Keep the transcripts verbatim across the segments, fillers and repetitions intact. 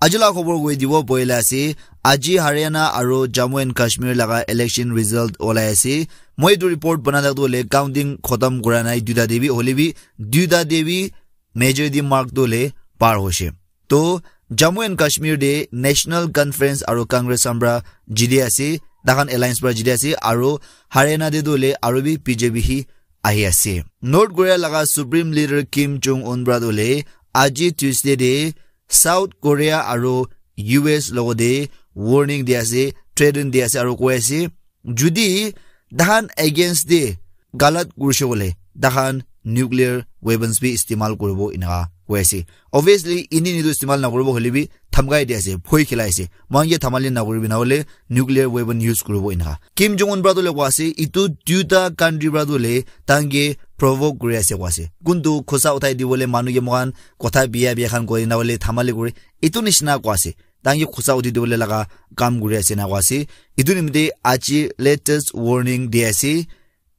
Aji la khobor koi dibo boila ase, aji Haryana aro Jammu and Kashmir laga election result olai ase. Moi etu report bana thaktu hoile counting khotam kura nai duita te bi, hoile bi duita te bi majority mark tu hoile par hoishe. To Jammu and Kashmir te National Conference aro Congress khan pra jiti ase, takhan alliance pra jiti ase, aro Haryana te tu hoile aro bi B J P hi ahi ase. North Korea laga Supreme Leader Kim Jong Un pra tu hoile aji Tuesday te South Korea aro U S logote warning di ase, threaten di ase aro koi ase, judi tahan against te galat kurishe kole tahan nuclear weapons bi istemal kuribo inaka koi ase. Obviously, ini nitu istemal nakuribo hole bi dhamkai di ase, bhoi khilai ase. Moikhan ke dhamali nakuribi nahole nuclear weapon use kuribo inaka. Kim Jong Un pra tu le koi ase, itu duita country pra tu le tahan ke provoke kuri ase koi ase. Kuntu khosa uthai dibole manu ke moikhan kotha biya biya khan koi nahole dhamali kuri. Itu nishina koi ase. Tahan ke khosa uthi dibole laga kam kuri ase na koi ase. Itu nimite aji latest warning di ase.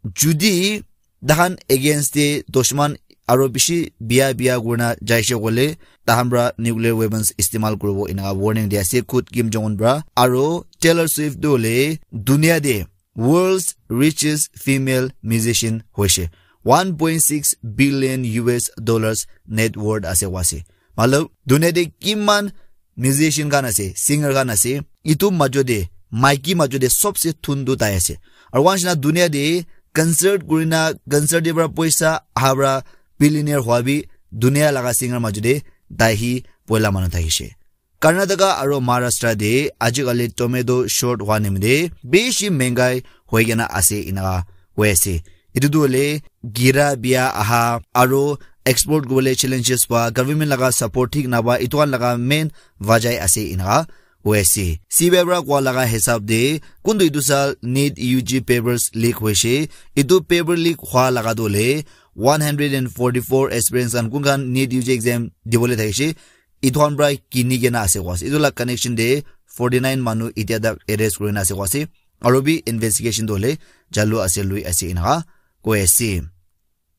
Judi tahan against te dushman aro bishi biya biya kurina jaishe kole, tahan pra nuclear weapons istemal kuribo inaka warning di ase khud Kim Jong Un pra. Aro Taylor Swift tu hoile dunia te world's richest female musician hoishe. One point six billion U S dollars net worth ase koi ase. Matlab, dunia te kiman musician khan ase, singer khan ase, itu majo te, maiki majo te sobse thun tu tai ase. Aro wansina dunia te concert kurina, concert te pra poisa aha pra billionaire hua bi dunia laga singer majo te tai hi poila manu thakishe. Karnataka aro Maharashtra te ajikali tomato short hua nimite bishi mengai hoi kena ase inaka hoi ase. Itu tu hoile gira biya aha aro export kubole challenges pa government laga support thik napa itu khan laga main wajai ase inaka hoi ase. C B I pra koa laga hisab te kuntu itu sal NEET U G papers leak hoishe. Itu paper leak hua laga tu hoile one hundred and forty-four aspirants khan kun khan NEET U G exam dibole thakishe. Itu khan pra kini kena ase koi ase. Itu la connection te forty-nine manu itya tak arrest kurina ase koi ase. Aro bi investigation tu hoile chalu ase lui ase inaka koi ase.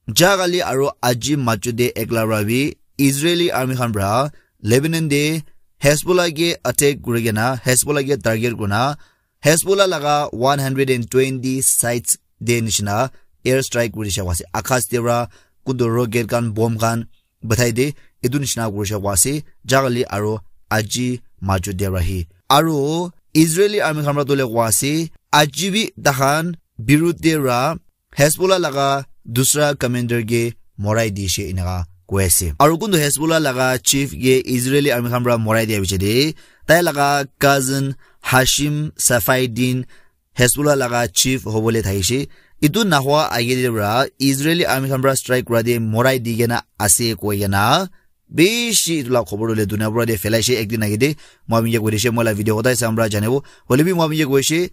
Jagali aro aji majo te ekla pra bi Israeli army khan pra Lebanon te Hezbollah ke attack kuri kena, Hezbollah ke target kurina, Hezbollah laga one hundred and twenty sites te nishina air strike kuri dishe koi ase. Akash te pra kuntu rocket khan, bomb khan, bathai de, etu nishina kurishe koa ase, jagali aro aji majo de rahi. Aro Israeli army khan pra tole koa ase, aji bi tahan birudh de ra Hezbollah laga dusra commander ke morai dishe eneka koi ase. Aro kuntu Hezbollah laga chief ke Israeli army khan pra morai dia biche de, tai laga cousin Hashim Safaeddin Hezbollah laga chief hobole thakishe. Etu nahwa age de pra Israeli army khan pra strike kura de morai di kena ase koi kena bishi etu la khobor tole dunia pura de phelaishe ekdin age de. Moi apni ke koi dishe, moi la video hotai sam pra janibo. Hoile bi moi apni ke koishe,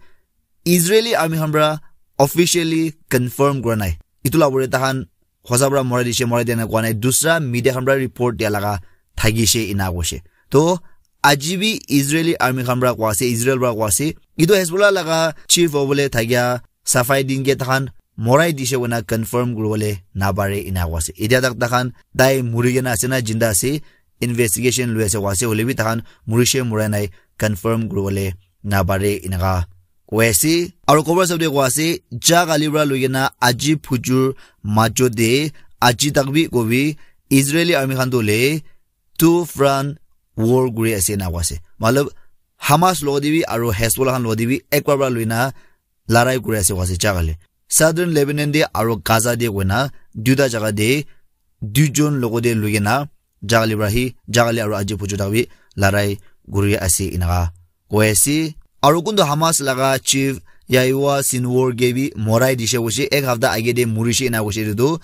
Israeli army khan pra officially confirm kura nai. Etu la pore tahan hosa pra morai dishe, morai dia nai koa nai. Dusra media khan pra report dia laga thakishe ena koishe. To aji bi Israeli army khan pra koa ase, Israel pra koa ase, etu Hezbollah laga chief hobole thakia Safaeddin ke tahan morai dishe koina confirm kuribole napare ena koa ase. Etia tak tahan tai muri kena ase na jinda ase, investigation lui ase koa ase, hoile bi tahan murishe murai nai confirm kuribole napare eneka koi ase. Aro khobor sabde koa ase, ja kali pra lui kena aji phujur majo de, aji tak bi kobi, Israeli army khan to le two front war kuri ase ena koa ase. Matlab, Hamas logo de bi aro Hezbollah khan logo de bi ek bar pra lui na larai kuri ase koa ase ja kali. Southern Lebanon de aro Gaza de koina duita jaga de duijon logo de lui kena ja kali pra hi, ja kali aro aji phujur tak bi larai kuri ase eneka koi ase. Aro kuntu Hamas laga chief Yahya Sinwar ke bi morai dishe koishe, ek hafta age de murishe ena koishe etu tu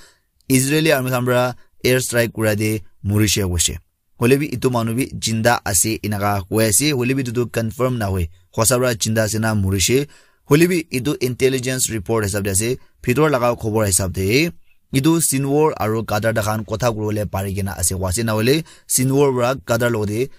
Israeli army khan pra air strike kura de murishe koishe. Hoile bi etu manu bi jinda ase eneka koi ase, hoile bi etu tu confirm nahoi. Hosa pra jinda ase na murishe. Hoile bi etu intelligence report hisab de ase, bhitor laga khobor hisab de etu Sinwar aro Qatar tahan kotha kuribole pari kena ase koa ase, na hoile Sinwar pra Qatar logo de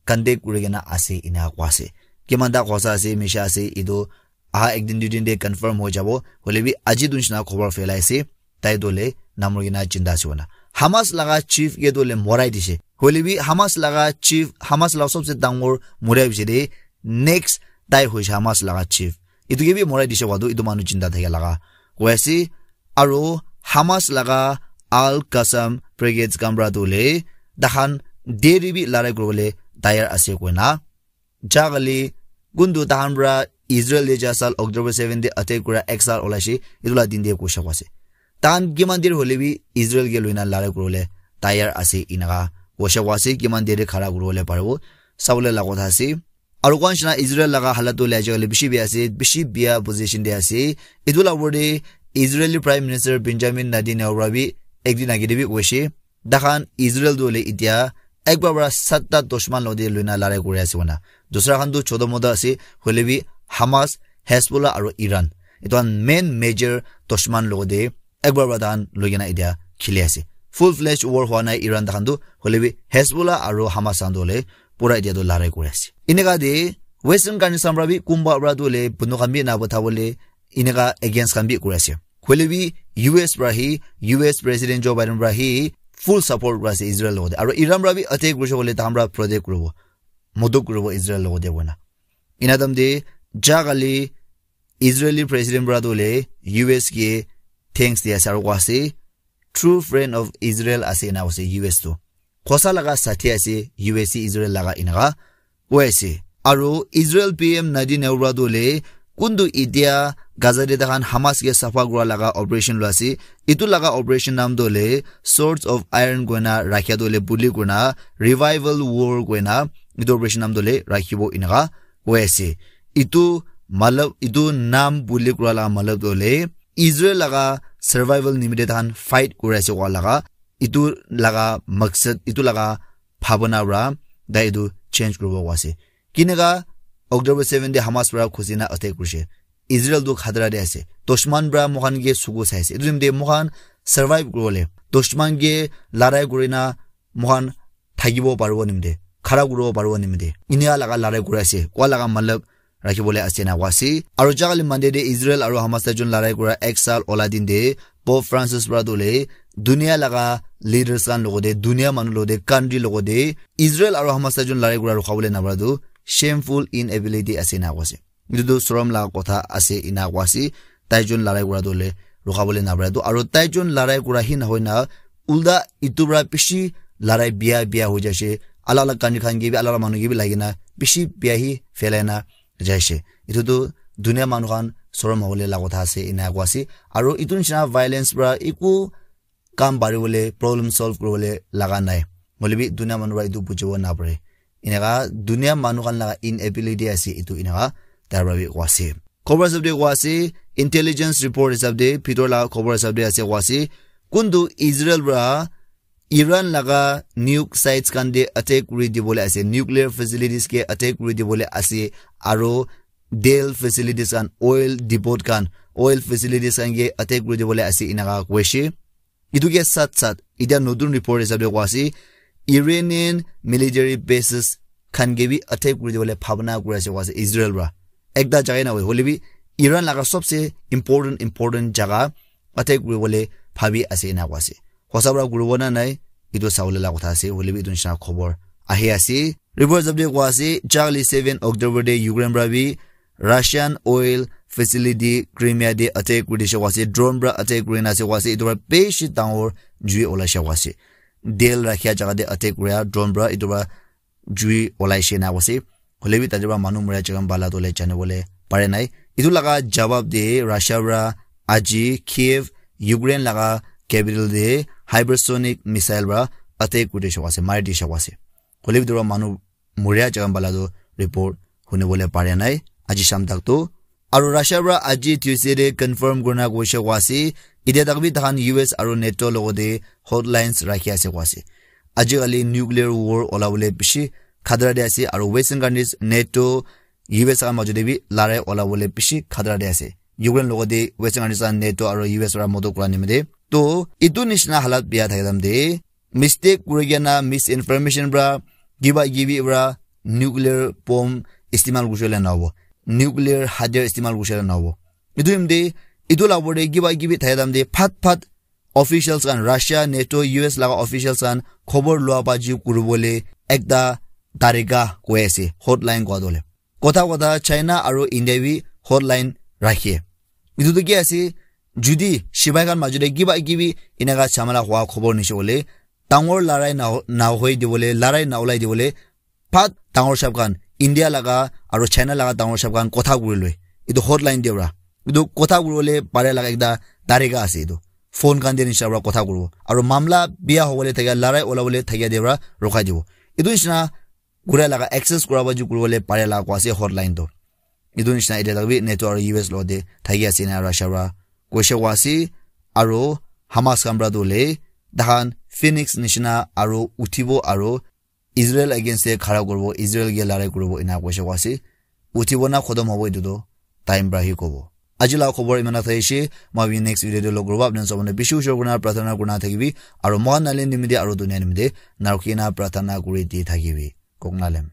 contact kuri kena ase ena koa ase. Kiman ta hosa ase, misha ase, etu aha ekdin duidin de confirm hoi jabo. Hoile bi aji tu nishina khobor phelai ase, tai to le namur kena jinda ase koina. Hamas laga chief ke to le morai dishe. Hoile bi Hamas laga chief, Hamas laga sobse dangor morai bishi de, next tai hoise Hamas laga chief. Itu ke bi morai dise wadu, itu manu jinda thake laga. Koi ase, aru Hamas laga Al Qassam brigades khan para tu le, dahan deri bi larai kuribole tayar ase koina. Jagali kuntu tahan para Israel de jasal October seven de attack kura exile olaishe, itu la din de kosha kwase. Tahan kiman dir hole bi Israel ke loina larai kuribole tayar ase inaka kosha kwase, kiman dir khara kuribole paribo, sabole la kotha ase. Aru kwan shina Israel laga halat tu le ajakali bishi bia ase, bishi bia position de ase. Itu la word de Israeli Prime Minister Benjamin Netanyahu para bi ekdin age de bi koishe, dahan Israel tu le itia ek bar bara satta dushman lode loina larai kuri ase wana. Dusra khan tu choto moto ase, hole bi Hamas, Hezbollah aru Iran. Itu khan main major dushman lode ek bar bara dahan loi kena itia khili ase. Full fledged war hua nai Iran dahan tu, hole bi Hezbollah aru Hamas dahan tu le pura itia tu larai kuri ase. Inaka de Western countries khan para bi kumba para tu le bunu khan bi na botha bole inaka against khan bi kuri ase. Hole bi U S para hi, U S President Joe Biden para hi full support kuri ase Israel logode. Aru Iran para bi attack kurise kole tahan para protect kuribo. Modok kuribo Israel logode kona. Ina tam de jagali Israeli President para tu le U S ke thanks di ase aru koi ase, true friend of Israel ase ena koi ase U S tu. Khosa laga sathi ase U S Israel laga inaka koi ase. Aru Israel P M Netanyahu para tu le kuntu itia Gaza de tahan Hamas ke safa kura laga operation lo ase. Itu laga operation nam tu le Swords of Iron koina rakhia tu le buli koina revival war koina itu operation nam tu le rakhibo inaka koi ase. Itu malab, itu nam buli kura laga malab tu le Israel laga survival nimite tahan fight kuri ase koa laga, itu laga maksad, itu laga bhabana para tai itu change kuribo koa ase. Kinaka October seven de Hamas para khusina attack kurise. Israel tu khatra de ase. Dushman para moikhan ke sugu sai ase. Itu nimite moikhan survive kuribole, dushman ke larai kurina moikhan thakibo paribo nimite, khara kuribo paribo nimite, inia laga larai kuri ase, koa laga matlab rakhibole ase na koi ase. Aru jagali Monday de Israel aru Hamas taijun larai kura exile ola din de Pope Francis para tu le dunia laga leaders khan logode, dunia manu logode, country logode Israel aru Hamas taijun larai kura rukhabole na para tu shameful inability ase na koi ase. Itu tu sorom laga kotha ase ina koi ase. Taijun larai kura tu le rukhabole na pare tu. Aru taijun larai kura hi na hoi na ulta itu para bishi larai bia bia hoi jaise. Alag alag country khan ke bi, alag alag manu ke bi lagi na bishi bia hi phelai na jaise. Itu tu dunia manu khan sorom hobole laga kotha ase ina koi ase. Aru itu nishina violence para eku kam pari bole, problem solve kuri bole laga nai. Hole bi dunia manu para etu bujibo na pare. Eneka dunia manu khan laga inability ase etu eneka tai para bi koi ase. Khobor hisab te koi ase, intelligence report hisab te, bhitor laga khobor hisab te ase koi ase. Kuntu Israel para Iran laga nuke sites khan te attack kuri dibole ase, nuclear facilities ke attack kuri dibole ase, aro Dale facilities khan, oil depot khan, oil facilities khan ke attack kuri dibole ase eneka koi ase. Etu ke sat sat, etia notun report hisab te koi ase, Iranian military bases khan ke bi attack kuri dibole bhabna kuri ase koi ase Israel para. Ekta jaga na hoi, hole bi Iran laga sobse important, important jaga attack kuri bole bhabi ase ena koi ase. Hosa para kuribo na nai, etu sabole la kotha ase, hole bi etu nishina khobor ahi ase. Report hisab te koi ase, jagali seven October te Ukraine para bi Russian oil facility Crimea te attack kuri dise koi ase, drone para attack kuri na ase koi ase, etu para bishi dangor jui olai se koi ase. Tel rakhia jaga te attack kuria drone para, etu para jui olai se na koi ase. Hole bi tate para manu muria jaga bala tu le jani bole pare nai. Etu laga jawab te Russia para aji Kiev, Ukraine laga capital te hypersonic missile para attack kuri dise koi ase, mari dise koi ase. Hole bi tate para manu muria jaga bala tu report huni bole pare nai aji sham tak tu. Aro Russia para aji Tuesday te confirm kurina koishe koi ase, etia tak bi takhan U S aro NATO logote hotlines rakhi ase koi ase. Ajikali nuclear war olabole bishi khatara te ase, aro Western countries, NATO, U S khan majote bi larai olabole bishi khatara te ase. Ukraine logote Western countries khan NATO aro U S para modot kura nimite. To, etu nishina halat bia thakidam te, mistake kuri kena misinformation para, kiba kibi para nuclear bomb istimal kurishe le nahobo. Nuclear hatiyar istimal kurishe le nahobo. Etu nimite, etu la opor te kiba kibi thakidam te phat phat officials khan, Russia, NATO, U S laga officials khan khobor lua baji kuribole ekta tarika koi ase, hotline kua tu hoile. Kotha kotha China aru India bi hotline rakhe. Etu tu ki ase, judi sipai khan majute kiba kibi enaka chamala hua khobor nishe hoile, dangor larai na, na hoi dibole, larai na ulai dibole, phat dangor sahab khan, India laga aru China laga dangor sahab khan kotha kuri loi. Etu hotline te para. Etu kotha kuribole pare laga ekta tarika ase etu. Phone khan te nisha para kotha kuribo. Aru mamla biya hobole thakia, larai ulabole thakia te para rokhai dibo. Etu nisna kurai laga access kura baji kuribole pare laga kua ase hotline tu. Etu nisna etia tak bi NATO aru U S lo te thaki ase na Russia para koise kua ase. Aru Hamas khan para tu hoile, tahan Phoenix nishina aru uthibo aru Israel against te khara kuribo, Israel ke larai kuribo ena koise kua ase. Uthibo na khotom hobo etu tu time para hi kobo. Aji laga khobor iman thakishe, moi next video te log koribo. Apni khan sabone bishi ushor kurina prarthana kurina thakibi, aru mohan nale nimite aru dunia nimite narukina prarthana kuri di thakibi. Kok nalem.